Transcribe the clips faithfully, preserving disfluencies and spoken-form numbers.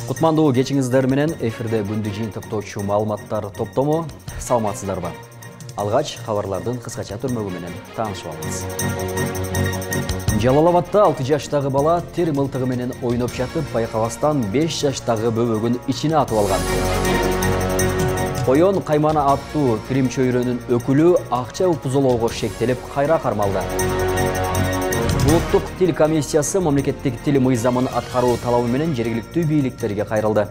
Кутмандуу кечиңиздер менен эфирде күндү жыйынтыктоочу маалыматтар топтому. Саламатсыздарбы? Алгач кабарлардын кыскача түрмөгү менен таанышып алабыз. Жалал Абадта алты жаштагы бала тер мылтыгы менен ойноп жатып, байкабастан беш жаштагы бөбөгүн ичине атып алган. Коён Каймана аттуу Крим чөйрөнүн өкүлү акча упузолоого шектелип кайра кармалды. Улуттук тил комиссиясы мамлекеттик тил мыйзамын аткаруу талабы менен жергиликтүү бийликтерге кайрылды.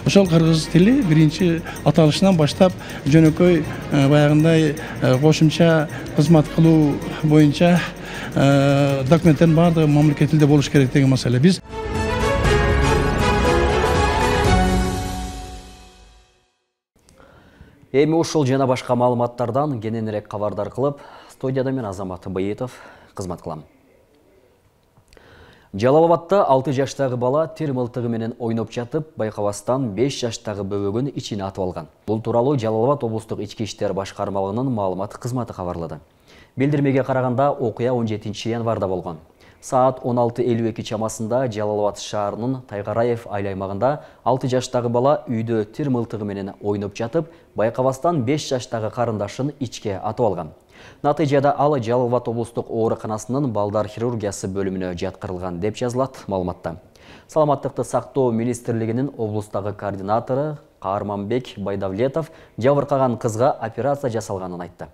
Ошол кыргыз тили биринчи аталышынан баштап жөнөкөй баягындай кошумча кызмат кылуу боюнча документтердин баардыгы мамлекет тилде болуш керек деген маселе. Биз эми ушул жана башка маалыматтардан кененирээк кабардар кылып, студияда мен Азамат Быйытов кызмат кылам. Жалал Абадта алты жаштагы бала тер мылтыгы менен ойноп жатып, байкабастан беш жаштагы бөбөгүн ичине атып алган. Бул тууралуу Жалал Абад облустук ички иштер башкармалыгынын маалымат кызматы кабарлады. Билдирмеге караганда окуя он жетинчи январда болгон. Саат он алты элүү эки чамасында Жалал Абад шаарынын Тайгараев айыл аймагында алты жаштагы бала үйдө тер мылтыгы менен ойноп жатып, байкабастан беш жаштагы карындашын ичке атып алган. Натыйжада ал Жалал Абад облустук ооруканасынын балдар хирургиясы бөлүмүнө жаткырылган деп жазылат маалыматта. Саламаттыкты сактоо министрлигинин облустагы координатору Каарманбек Байдавлетов жабыркаган кызга операция жасалганын айтты.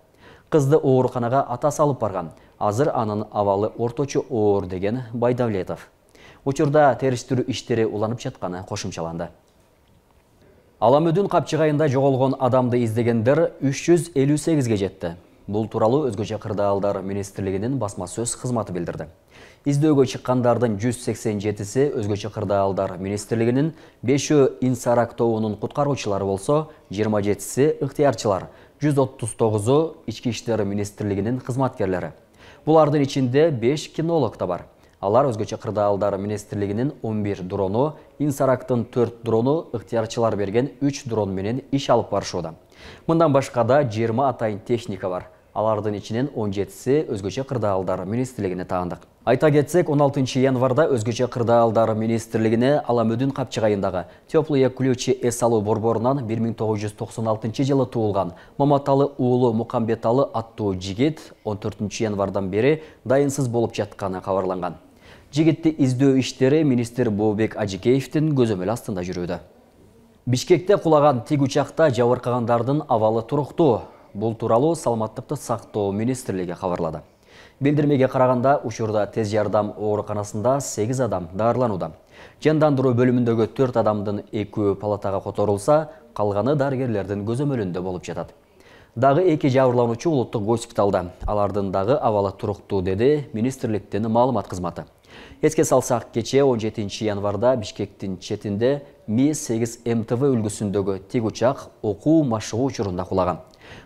Кызды ооруканага атасы алып барган. Азыр анын абалы орточо оор деген Байдавлетов. Учурда териштирүү иштери уланып жатканы кошумчаланды. Аламөдүн капчыгайында жоголгон адамды издегендер үч жүз элүү сегизге жетти. Бул тууралуу Өзгөчө кырдаалдар министрлигинин басма сөз кызматы билдирди. Издөөгө чыккандардын жүз сексен жетиси Өзгөчө кырдаалдар министрлигинин, бешөө Инсарак тобунун куткаруучулары болсо, жыйырма жетиси ыктыярчылар, жүз отуз тогузу ички иштер министрлигинин кызматкерлери. Булардын ичинде беш кинолог да бар. Алар Өзгөчө кырдаалдар министрлигинин он бир дрону, Инсарактын төрт дрону, ыктыярчылар берген үч дрон менен иш алып барышууда. Мындан башка да жыйырма атайын техника бар. Алардын ичинен он жетиси Өзгөчө кырдаалдар министрлигине таандык. Айта кетсек, он алтынчы январда Өзгөчө кырдаалдар министрлигине Аламөдүн капчыгайындагы теплые ключи эс алуу борборунан бир миң тогуз жүз токсон алтынчы жылы туулган Маматалы уулу Мукамбеталы аттуу жигит он төртүнчү январдан бери дайынсыз болуп жатканы кабарланган. Жигитти издөө иштери министр Бообек Ажикеевдин көзөмөл астында жүрүүдө. Бишкекте кулаган тиг учакта жабыркагандардын абалы туруктуу. Бул тууралуу Саламаттыкты сактоо министрлиги кабарлады. Билдирмеге караганда, учурда тез жардам ооруканасында сегиз адам даарыланууда. Жандандыруу бөлүмүндөгү төрт адамдын экөө палатага которулса, калганы дарыгерлердин көзөмөлүндө болуп жатат. Дагы эки жабырлануучу улуттук госпиталда. Алардын дагы абалы туруктуу, деди министрликтин маалымат кызматы. Эске салсак, кечээ он жетинчи январда Бишкектин четинде Ми сегиз эм тэ вэ үлгүсүндөгү тиг учак окуу машыгуу учурунда кулаган.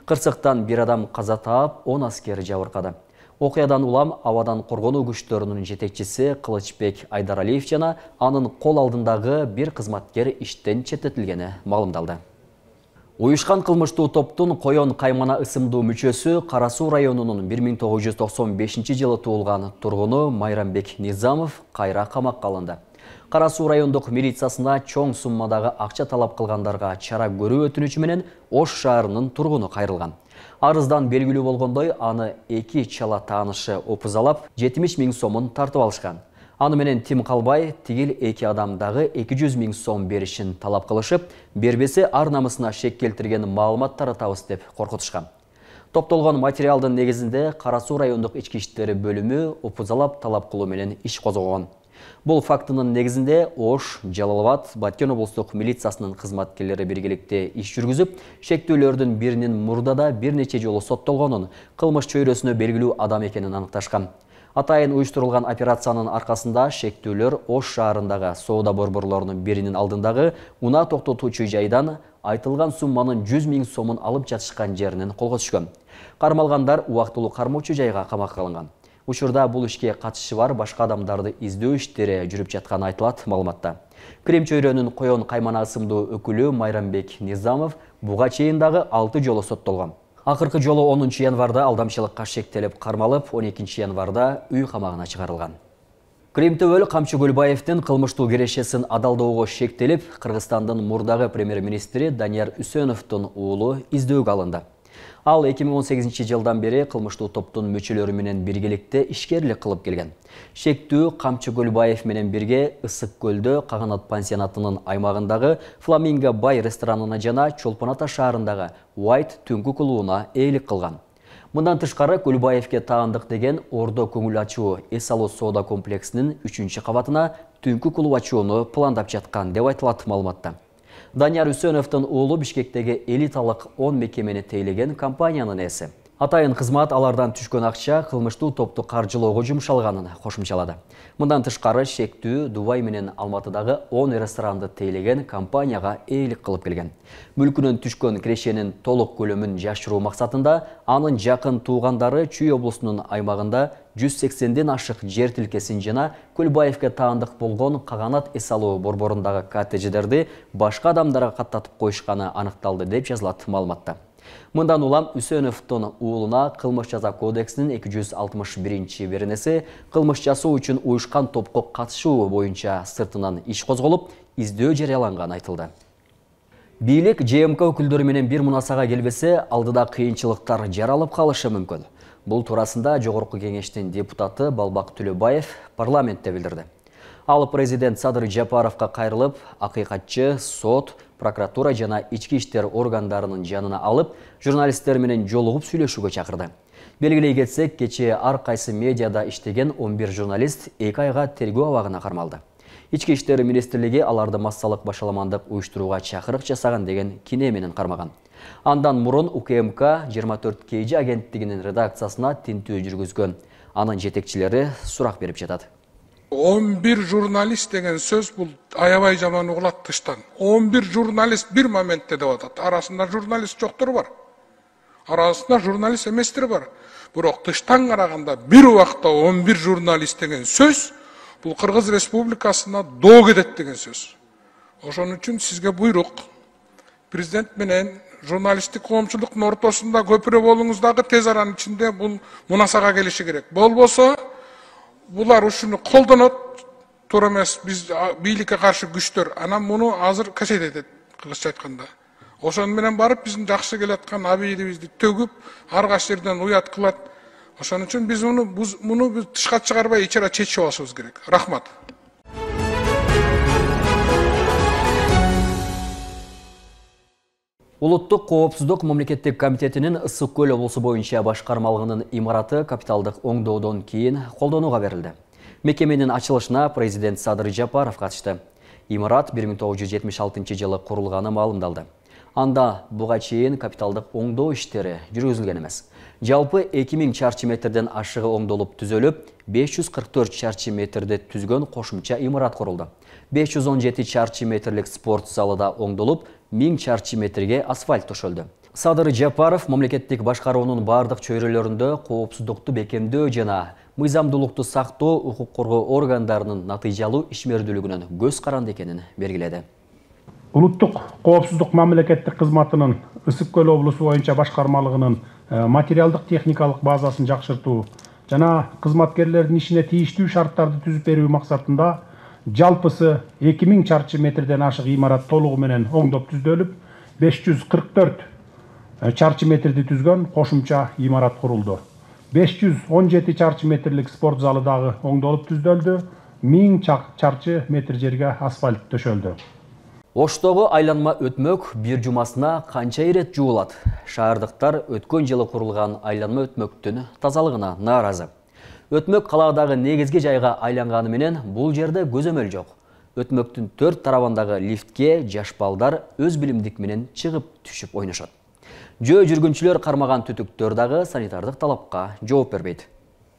Кырсыктан бир адам каза таап, он аскер жабыркады. Окуядан улам абадан коргонуу күчтөрүнүн жетекчиси Кылычбек Айдаралиев жана анын кол алдындагы бир кызматкер иштен четтетилгени маалымдалды. Уюшкан кылмыштуу топтун Коён Каймана ысымдуу мүчөсү Кара Суу районунун бир миң тогуз жүз токсон бешинчи жылы туулган тургуну Майрамбек Низамов кайра камакка алынды. Кара Суу райондук милициясына чоң суммадагы акча талап кылгандарга чара көрүү өтүнүчү менен Ош шаарынын тургуну кайрылган. Арыздан белгилүү болгондой, аны эки чала таанышы опузалап, жетимиш миң сомун тартып алышкан. Аны менен тим калбай, тигил эки адам дагы эки жүз миң сом беришин талап кылышып, бербесе ар намысына шек келтирген маалыматтары табыс деп коркутушкан. Топтолгон материалдын негизинде Кара Суу райондук ички иштери бөлүмү опузалап талап кылуу менен иш козгогон. Бул фактынын негизинде Ош, Жалал Абад, Баткен облустук милициясынын кызматкерлери биргеликте иш жүргүзүп, шектүүлөрдүн биринин мурдада бир нече жолу соттолгонун, кылмыш чөйрөсүнө белгилүү адам экенин аныкташкан. Атайын уюштурулган операциянын аркасында шектүүлөр Ош шаарындагы соода борборлорунун биринин алдындагы унаа токтотуучу жайдан айтылган сумманын жүз миң сомун алып жатышкан жеринен колго түшкөн. Кармалгандар убактылуу кармоочу жайга камакка алынган. Учурда бул ишке катышы бар башка адамдарды издөө иштери жүрүп жатканы айтылат маалыматта. Крим чөйрөнүн Коён Каймана ысымдуу өкүлү Майрамбек Низамов буга чейин дагы алты жолу соттолгон. Акыркы жолу онунчу январда алдамчылыкка шектелип кармалып, он экинчи январда үй камагына чыгарылган. Кримтөбөл Камчы Көлбаевдин кылмыштуу кирешесин адалдоого шектелип, Кыргызстандын мурдагы премьер-министри Данияр Үсөновдун уулу издөөгө алынды. Ал эки миң он сегизинчи жылдан бери кылмыштуу топтун мүчөлөрү менен биргеликте ишкерлик кылып келген. Шектүү Камчы Көлбаев менен бирге Ысык көлдө Каганат пансионатынын аймагындагы Фламинго Бай ресторанына жана Чолпон Ата шаарындагы White түнкү клубуна ээлик кылган. Мындан тышкары Көлбаевге таандык деген Ордо көңүл ачуу эс алуу соода комплексинин үчүнчү кабатына түнкү клуб ачууну пландап жаткан деп айтылат маалыматта. Данияр Үсөновдун уулу Бишкектеги элиталык он мекемени тейлеген компаниянын ээси. Атайын кызмат алардан түшкөн акча кылмыштуу топту каржылоого жумшалганын кошумчалады. Мындан тышкары шектүү Дубай менен Алматыдагы он ресторанды тейлеген компанияга ээлик кылып келген. Мүлкүнөн түшкөн кирешенин толук көлөмүн жашыруу максатында анын жакын туугандары Чүй облусунун аймагында жүз сексенден ашык жер тилкесин жана Көлбаевге таандык болгон Каганат эс алуу борборундагы коттедждерди башка адамдарга каттатып коюшканы аныкталды деп жазылат маалыматта. Мындан улам Үсөновдун уулуна кылмыш жаза кодексинин эки жүз алтымыш биринчи беренеси кылмыш жасоо үчүн уюшкан топко катышуу боюнча сыртынан иш козголуп, издөө жарыяланганы айтылды. Бийлик Ж М К өкүлдөрү менен бир мунасага келбесе, алдыда кыйынчылыктар жаралып калышы мүмкүн. Бул туурасында Жогорку кеңештин депутаты Балбак Төлөбаев парламентте билдирди. Ал президент Садыр Жапаровго кайрылып, акыйкатчы, сот, прокуратура жана ички иштер органдарынын жанына алып, журналисттер менен жолугуп сүйлөшүүгө чакырды. Белгилей кетсек, кечээ ар кайсы медиада иштеген он бир журналист эки айга тергөө абагына кармалды. Ички иштер министрлиги аларды массалык башаламандык уюштурууга чакырык жасаган деген кине менен кармаган. Андан мурун У К М К жыйырма төрт К Ж агенттигинин редакциясына тинтүү жүргүзгөн. Анын жетекчилери сурак берип жатат. он бир журналист деген сөз бул аябай жаман угулат тыштан. он бир журналист бир моментте деп атат. Арасында журналист жоктор бар. Арасында журналист эместер бар. Бирок тыштан караганда бир убакта он бир журналист деген сөз бул Кыргыз Республикасына доо кетет деген сөз. Ошон үчүн сизге буйрук. Президент менен журналисттик коомчулуктун ортосунда көпүрө болуңуз дагы тез аранын ичинде бул мунасага келиши керек. Болбосо булар ушуну колдонот, туура эмес, биз бийликке каршы күчтөр. Анан муну азыр касет этет, кыргызча айтканда. Ошон менен барып биздин жакшы келаткан абийдибизди төгүп, ар кайсы жерден уят кылат. Ошон үчүн биз муну муну биз тышка чыгарбай ичара чечип алышыбыз керек. Рахмат. Улуттук коопсуздук мамлекеттик комитетинин Ысык көл облусу боюнча башкармалыгынын имараты капиталдык оңдоодон кийин колдонууга берилди. Мекеменин ачылышына президент Садыр Жапаров катышты. Имарат бир миң тогуз жүз жетимиш алтынчы жылы курулганы маалымдалды. Анда буга чейин капиталдык оңдоо иштери жүргүзүлгөн эмес. Жалпы эки миң чарчы метрден ашыгы оңдолуп түзөлүп, беш жүз кырк төрт чарчы метрде түзгөн кошумча имарат курулду. беш жүз он жети чарчы метрлик спорт залы да оңдолуп, миң чарчы метрге асфальт төшөлдү. Садыр Жапаров мамлекеттик башкаруунун бардык чөйрөлөрүндө коопсуздукту бекемдөө жана мыйзамдуулукту сактоо укук коргоо органдарынын натыйжалуу ишмердүүлүгүнөн көз каранды экенин белгиледи. Улуттук коопсуздук мамлекеттик кызматынын Ысык көл облусу боюнча башкармалыгынын материалдык техникалык базасын жакшыртуу жана кызматкерлердин ишине тийиштүү шарттарды түзүп берүү максатында жалпысы эки миң чарчы метрден ашык имарат толугу менен оңдоп түздөлүп, беш жүз кырк төрт чарчы метрди түзгөн кошумча имарат курулду. беш жүз он жети чарчы метрлик спорт залы дагы оңдолуп түздөлдү, миң чарчы метр жерге асфальт төшөлдү. Оштогу айланма өтмөк бир жумасына канча ирет жуулат? Шаардыктар өткөн жылы курулган айланма өтмөктүн тазалыгына нааразы. Өтмөк калаадагы негизги жайга айланганы менен бул жерде көзөмөл жок. Өтмөктүн төрт тарабындагы лифтке жаш балдар өз билимдик менен чыгып түшүп ойношот. Жөө жүргүнчүлөр кармаган түтүктөр дагы санитардык талапка жооп бербейт.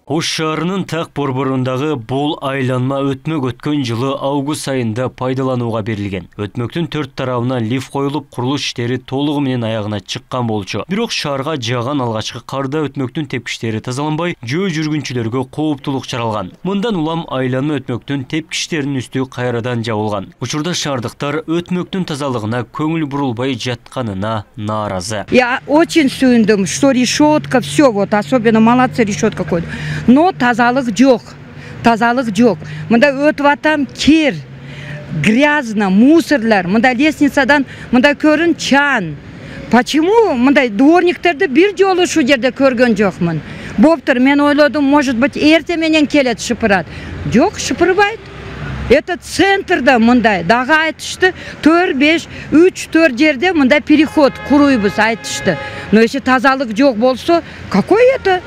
Ош шаарынын так борборундагы бул айланма өтмөк өткөн жылы август айында пайдаланууга берилген. Өтмөктүн төрт тарабына лифт коюлуп, курулуш иштери толугу менен аягына чыккан болчу. Бирок шаарга жааган алгачкы карда өтмөктүн тепкичтери тазаланбай, жөө жүргүнчүлөргө кооптулук чаралган. Мындан улам айланма өтмөктүн тепкичтеринин үстү кайрадан жабылган. Учурда шаардыктар өтмөктүн тазалыгына көңүл бурулбай жатканына нааразы. Я очень сүйүндүм, что решетка, все вот, особенно молодцы, решетка какой-то. Но тазалык жок. тазалык жок. Мында өтүп атам, кир, грязно, мусорлар, мында лестницадан мында көрүн чан. Почему мындай дворниктерди бир жолу ушул жерде көргөн жокмун? Боптур, мен ойлодум, может быть, эрте менен келет шыпырат. Жок, шыпырбайт. Это центрда мындай, дагы айтышты, төрт беш, үч төрт жерде мындай переход куруйбуз айтышты. Но если тазалык жок болсо, какой это?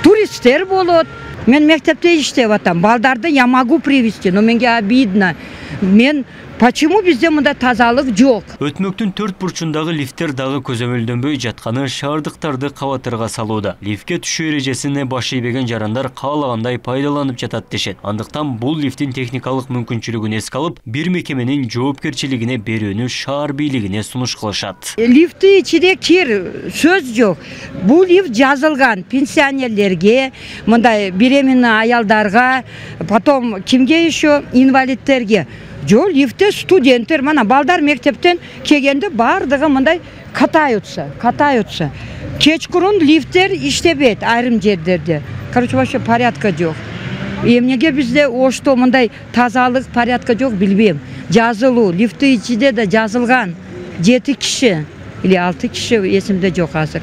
Туристтер болот. Мен мектепте иштеп атам. Балдарды я могу привести, но менге обидно. Мен почему бизде мында тазалык жок? Өтмөктүн төрт бурчундагы лифттер дагы көзөмөлдөнбөй жатканы шаардыктарды кабатырга салууда. Лифтке түшүү эрежесине баш ийбеген жарандар каалагандай пайдаланып жатат дешет. Андыктан бул лифттин техникалык мүмкүнчүлүгүн эске алып, бир мекеменин жоопкерчилигине берүүнү шаар бийлигине сунуш кылышат. Лифти ичиде кир, сөз жок. Бул лифт жазылган пенсионерлерге, мындай беременный аялдарга, потом кимге еще, инвалидтерге. Жол лифте студенттер, мана балдар мектептен келгенде бардыгы мындай катаются, катаются. Кечкурун лифттер иштебейт айрым жерлерде. Короче, вообще порядка жок. Эмнеге бизде ошто мындай тазалык, порядка жок билбейм. Жазылуу, лифти ичиде да жазылган жети киши или алты киши, эсимде жок азыр.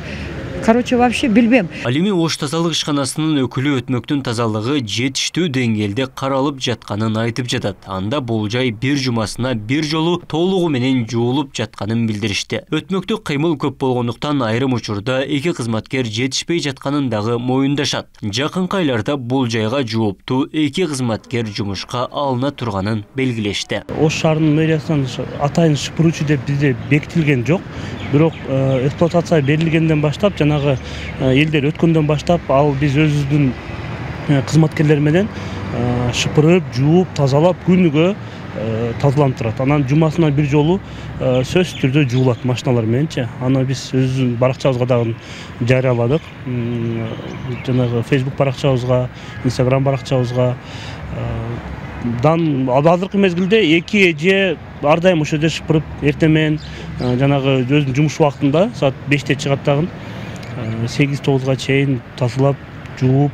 Короче, вообще билбейм. Ал эми Ош тазалык ишканасынын өкүлү өтмөктүн тазалыгы жетиштүү деңгээлде каралып жатканын айтып жатат. Анда бул жай бир жумасына бир жолу толугу менен жуулуп жатканын билдиришти. Өтмөктө кыймыл көп болгондуктан айрым учурда эки кызматкер жетишпей жатканын дагы моюндашат. Жакынкы айларда бул жайга жооптуу эки кызматкер жумушка алына турганын белгилешти. Ош шаарынын мэриясынан атайын шыпыруучу деп бизде бекитилген жок. Бирок эксплуатация берилгенден баштап, жанагы элдер өткөндөн баштап, ал биз өзүбүздүн кызматкерлер менен шыпырып, жууп, тазалап, күнүгө тазаланып турат. Анан жумасына бир жолу сөзсүз түрдө жуулат машиналар мененчи. Аны биз өзүбүздүн баракчабызга дагы жарыяладык. Жанагы Facebook баракчабызга, Instagram баракчабызга. Дан азыркы мезгилде эки эже ар дайым ошол жерде шыпырып, эртең менен жанагы өзүнүн жумуш убактында саат беште чыгат дагы сегиз тогузга чейин тазалап, жууп,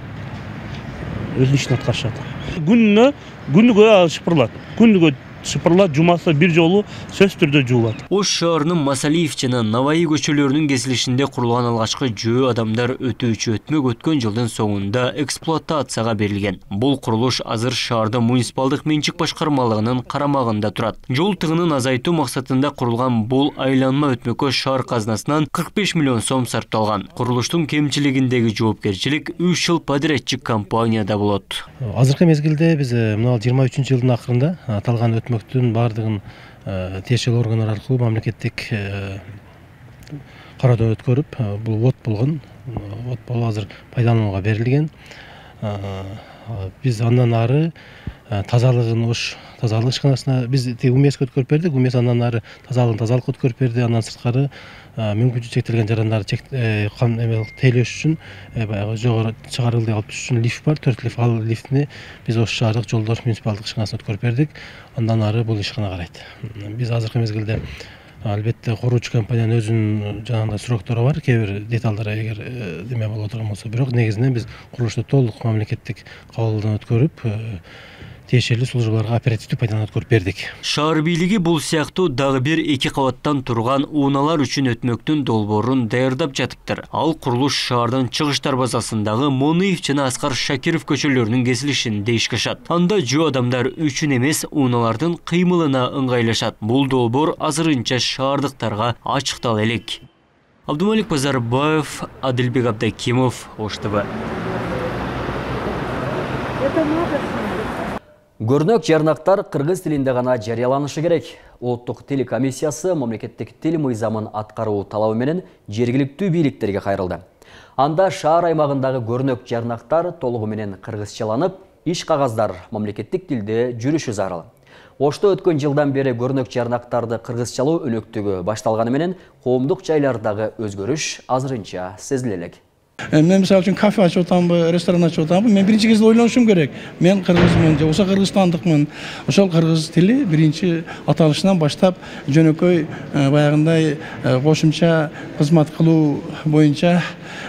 өзүнүн ишин аткарышат. Күнүнө күнүгө шыпырылат. Күнүгө шыпырылат, жумасы бир жолу сөзсүз түрдө жуулат. Ош шаарынын Масалиев жана Наваи көчөлөрүнүн кесилишинде курулган алгачкы жөө адамдар өтүүчү өтмөк өткөн жылдын соңунда эксплуатацияга берилген. Бул курулуш азыр шаардын муниципалдык менчик башкармалыгынын карамагында турат. Жол тыгынын азайтуу максатында курулган бул айланма өтмөккө шаар казынасынан кырк беш миллион сом сарпталган. Курулуштун кемчилигиндеги жоопкерчилик үч жыл подрядчик компанияда болот. Азыркы мезгилде биз мына жыйырма үчүнчү жылдын акырында аталган өтмөктүн бардыгын тиешелүү органдар аркылуу мамлекеттик кароодон өткөрүп, бул вот болгон, вот болуп азыр пайдаланууга берилген. Биз андан ары тазалыгын Ош тазалык ишканасына биз УМЭСке өткөрүп бердик. УМЭС андан ары тазалыгын тазалыкка өткөрүп берди. Андан сырткары мүмкүнчүлүгү чектелген жарандарды тейлөөш үчүн баягы жогору чыгарылды алып түшүш үчүн лифт бар. төрт лифт, ал лифтини биз Ош шаардык жолдор муниципалдык ишканасына өткөрүп бердик. Андан ары бул ишкана карайт. Биз азыркы мезгилде албетте куруучу компаниянын өзүнүн жанагындай сроктору бар. Кээ бир деталдар эгер деме боло турган болсо, бирок негизинен биз курулушту толук мамлекеттик кабылдан өткөрүп, тиешелүү службаларга оперативдүү пайдаланып өткөрүп бердик. Шаар бийлиги бул сыяктуу дагы бир эки кабаттан турган ууналар үчүн өтмөктүн долбоорун даярдап жатыптыр. Ал курулуш шаардын чыгыш дарбазасындагы Мониев жана Аскар Шакиров көчөлөрүнүн кесилишинде ишке ашат. Анда жөө адамдар үчүн эмес, ууналардын кыймылына ыңгайлашат. Бул долбоор азырынча шаардыктарга ачыктала элек. Абдумалик Базарбаев, Адилбек Абдакимов, Ош ТВ. Көрнөк жарнактар кыргыз тилинде гана жарыяланышы керек. Улуттук тил комиссиясы мамлекеттик тил мыйзамын аткаруу талабы менен жергиликтүү бийликтерге кайрылды. Анда шаар аймагындагы көрнөк жарнактар толугу менен кыргызчаланып, иш кагаздар мамлекеттик тилде жүрүшү зарыл. Ошто өткөн жылдан бери көрнөк жарнактарды кыргызчалоо өнөктүгү башталганы менен коомдук жайлардагы өзгөрүш азырынча сезиле элек. Мен мисалы үчүн кафе ачып атамбы, ресторан ачып атамбы, мен биринчи кезде ойлонушум керек. Мен кыргызмын, же болбосо кыргызстандыкмын. Ошол кыргыз тили биринчи аталышынан баштап жөнөкөй баягындай кошумча кызмат кылуу боюнча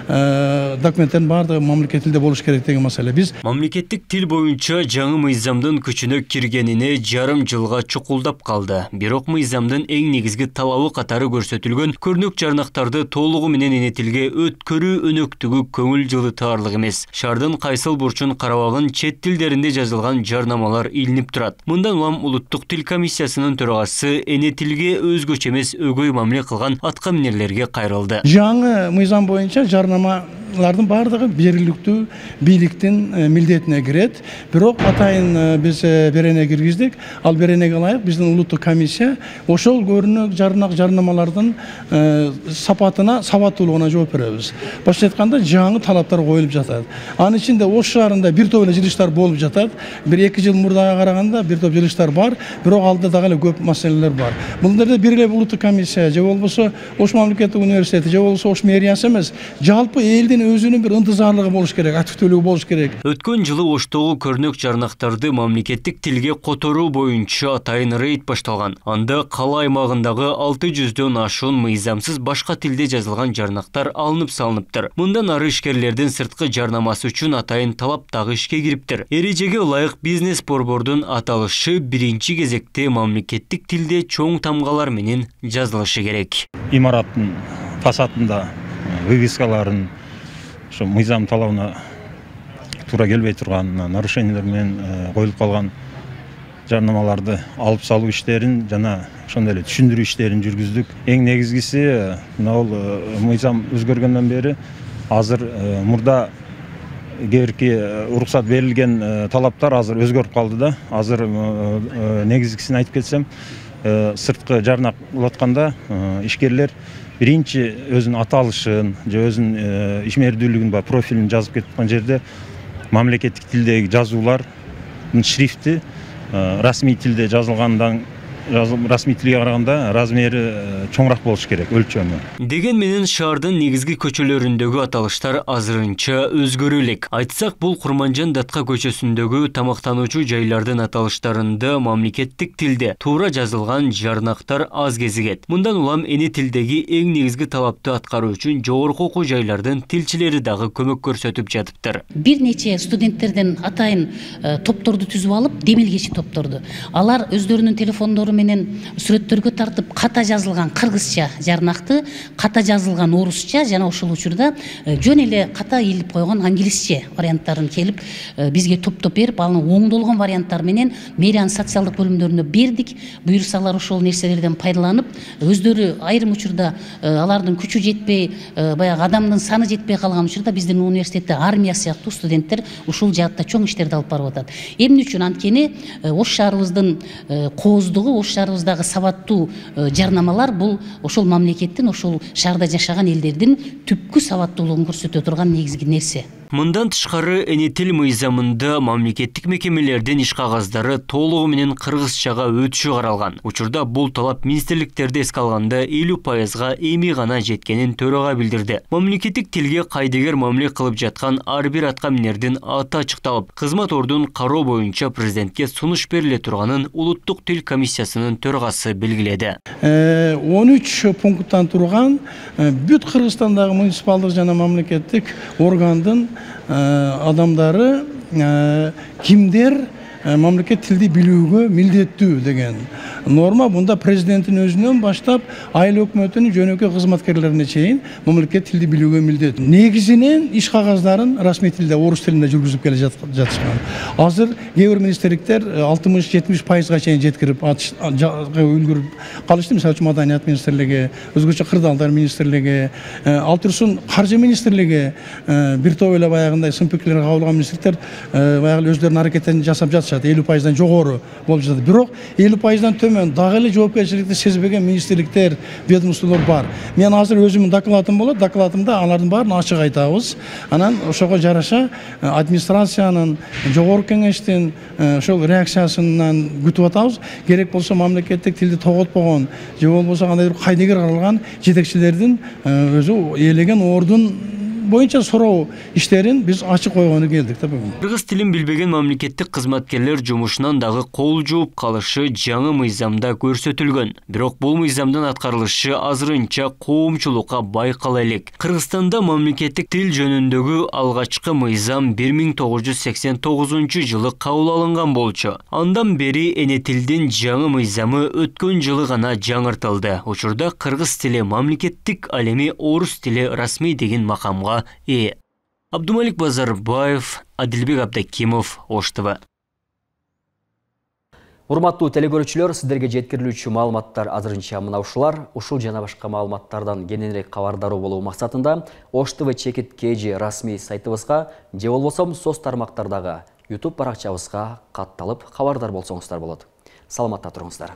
документтердин баардыгы мамлекет тилде болуш керек деген маселе. Биз мамлекеттик тил боюнча жаңы мыйзамдын күчүнө киргенине жарым жылга чукулдап калды. Бирок мыйзамдын эң негизги талабы катары көрсөтүлгөн көрнөк жарнактарды толугу менен эне тилге өткөрүү өнөктүгү көңүл жылытаарлык эмес. Шаардын кайсыл бурчун карабагын чет тилдеринде жазылган жарнамалар илинип турат. Мындан улам улуттук тил комиссиясынын төрагасы эне тилге өзгөчө эмес өгөй мамиле кылган аткаминерлерге кайрылды. Жаңы мыйзам боюнча жарнамалардын баардыгы жергиликтүү бийликтин милдетине кирет. Бирок атайын биз берене киргиздик. Ал беренеге ылайык биздин улуттук комиссия ошол көрүнөк жарнак жарнамалардын сапатына, сабаттуулугуна жооп беребиз. Башкача айтканда жаңы талаптар коюлуп жатат. Анын ичинде Ош шаарында бир топ эле жылыштар болуп жатат. бир эки жыл мурдага караганда бир топ жылыштар бар, бирок алда дагы эле көп маселелер бар. Бул жерде бир эле улуттук комиссия же болбосо Ош мамлекеттик университети же болбосо Ош мэриясы эмес, жалпы элдин өзүнүн бир ынтызарлыгы болуш керек, активдүүлүгү болуш керек. Өткөн жылы Оштогу көрнөк жарнактарды мамлекеттик тилге которуу боюнча атайын рейд башталган. Анда кала аймагындагы алты жүздөн ашуун мыйзамсыз башка тилде жазылган жарнактар алынып салыныптыр. Мындан ары ишкерлердин сырткы жарнамасы үчүн атайын талап дагы ишке кириптир. Эрежеге ылайык бизнес борбордун аталышы биринчи кезекте мамлекеттик тилде чоң тамгалар менен жазылышы керек. Имараттын фасадында вывескаларын ошо мыйзам талабына туура келбей турган нарушениялер менен коюлуп калган жарнамаларды алып салуу иштерин жана ошондой эле түшүндүрүү иштерин жүргүздүк. Эң негизгиси мына бул мыйзам өзгөргөндөн бери азыр мурда кээ бирки уруксат берилген талаптар азыр өзгөрүп калды да. Азыр негизгисин айтып кетсем, сырткы жарнак улатканда ишкерлер биринчи өзүнүн аталышын же өзүнүн ишмердүүлүгүн ба профилин жазып кетип аткан жерде мамлекеттик тилдеги жазуулардын шрифти расмий тилде жазылгандан расмий тилге караганда размери чоңураак болуш керек, өлчөмү. Деген менен шаардын негизги көчөлөрүндөгү аталыштар азырынча өзгөрө элек. Айтсак, бул Курманжан Датка көчөсүндөгү тамактануучу жайлардын аталыштарында мамлекеттик тилде туура жазылган жарнактар аз кезигет. Мындан улам эне тилдеги эң негизги талапты аткаруу үчүн жогорку окуу жайлардын тилчилери дагы көмөк көрсөтүп жатыптыр. Бир нече студенттерден атайын топторду түзүп алып, демилгечи топторду. Алар өздөрүнүн телефондору менен сүрөттөргө тартып ката жазылган кыргызча жарнакты, ката жазылган орусча жана ошол учурда жөн эле ката илип койгон англисче варианттарын келип бизге топтоп берип, анын оңдолгон варианттары менен мэриянын социалдык бөлүмдөрүнө бердик. Буюрсалар ошол нерселерден пайдаланып, өздөрү айрым учурда алардын күчү жетпей, баягы адамдын саны жетпей калган учурда биздин университетте армия сыяктуу студенттер ушул жаатта чоң иштерди алып барып атат. Эмне үчүн? Анткени Ош шаарыбыздын кооздугу, Ош шаарыбыздагы сабаттуу жарнамалар бул ошол мамлекеттин, ошол шаарда жашаган элдердин түпкү сабаттуулугун көрсөтө турган негизги нерсе. Мындан тышкары эне тил мыйзамында мамлекеттик мекемелердин иш кагаздары толугу менен кыргызчага өтүшү каралган. Учурда бул талап министрликтерде эске алганда элүү пайызга эми гана жеткенин төрага билдирди. Мамлекеттик тилге кайдыгер мамиле кылып жаткан ар бир аткаминердин аты ачыкталып, кызмат ордун кароо боюнча президентке сунуш бериле турганын улуттук тил комиссиясынын төрагасы белгиледи. он үч пункттан турган бүт Кыргызстандагы муниципалдык жана мамлекеттик органдын адамдары кимдер мамлекет тилди билүүгө милдеттүү деген норма. Бунда президенттин өзүнөн баштап айыл өкмөтүнүн жөнөкөй кызматкерлерине чейин мамлекет тилди билүүгө милдет. Негизинен иш кагаздарын расмий тилде, орус тилинде жүргүзүп келе жатышкан. Азыр кээ бир министрликтер алтымыш жетимиш пайызга чейин жеткирип үлгүрүп калышты. Мисалы үчүн Маданият министрлиги, өзгөчө кырдаалдар министрлиги, ал турсун каржы министрлиги, бир топ эле баягындай сын пикирлер кабыл алган министрликтер баягы өздөрүнүн аракеттерин жасап жатышат. элүү пайыздан жогору болуп жатат. Бирок элүү пайыздан төмөн дагы эле жоопкерчиликти сезбеген министрликтер, ведомстволор бар. Мен азыр өзүмдүн докладым болот. Докладымда алардын баарын ачык айтабыз. Анан ошого жараша администрациянын, жогорку кеңештин ошол реакциясынан күтүп атабыз. Керек болсо мамлекеттик тилди тоготпогон же болбосо кандайдыр кайдыгер каралган жетекчилердин өзү ээлеген ордун боюнча суроо иштерин биз ачык койгону келдик да бүгүн. Кыргыз тилин билбеген мамлекеттик кызматкерлер жумушунан дагы кол жууп калышы жаңы мыйзамда көрсөтүлгөн. Бирок бул мыйзамдын аткарылышы азырынча коомчулукка байкала элек. Кыргызстанда мамлекеттик тил жөнүндөгү алгачкы мыйзам бир миң тогуз жүз сексен тогузунчу жылы кабыл алынган болчу. Андан бери эне тилдин жаңы мыйзамы өткөн жылы гана жаңыртылды. Учурда кыргыз тили мамлекеттик, ал эми орус тили расмий деген макамга ээ. Абдумалик Базарбаев, Адилбек Абдакимов, Ош ТВ. Урматтуу телекөрүүчүлөр, сиздерге жеткирилүүчү маалыматтар азырынча мына ушулар. Ушул жана башка маалыматтардан кененирээк кабардар болуу максатында Ош ТВ чекит кж расмий сайтыбызга же болбосо соц тармактардагы YouTube баракчабызга катталып кабардар болсоңуздар болот. Саламатта туруңуздар.